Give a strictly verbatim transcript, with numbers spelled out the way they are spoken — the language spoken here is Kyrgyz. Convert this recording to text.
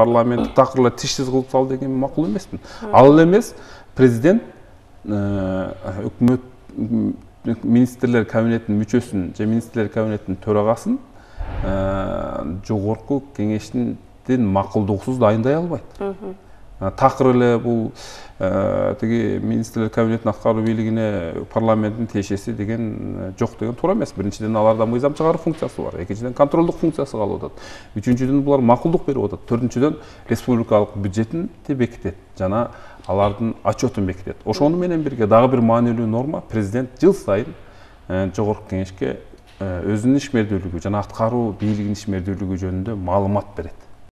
парламент такыр эле тишсиз кылып сал деген макул эмесмин. Ал эле эмес президент өкмөт министрлер кабинетинин мүчөсүн же министрлер кабинетинин төрагасын жогорку кеңештин макулдугусуз дайындай албайт. Такыр эле бул тиги министрлер кабинетинин аткаруу бийлигине парламенттин тиешеси деген жок деген туура эмес. Биринчиден аларда мыйзам чыгаруу функциясы бар, экинчиден контролдук функциясы калып атат, үчүнчүдөн булар макулдук берип атат, төртүнчүдөн республикалык бюджетин бекитет жана алардын отчетун бекитет. Ошону менен бирге дагы бир маанилүү норма: президент жыл сайын жогорку кеңешке өзүнүн ишмердүүлүгү жана аткаруу бийлигинин ишмердүүлүгү жөнүндө маалымат берет.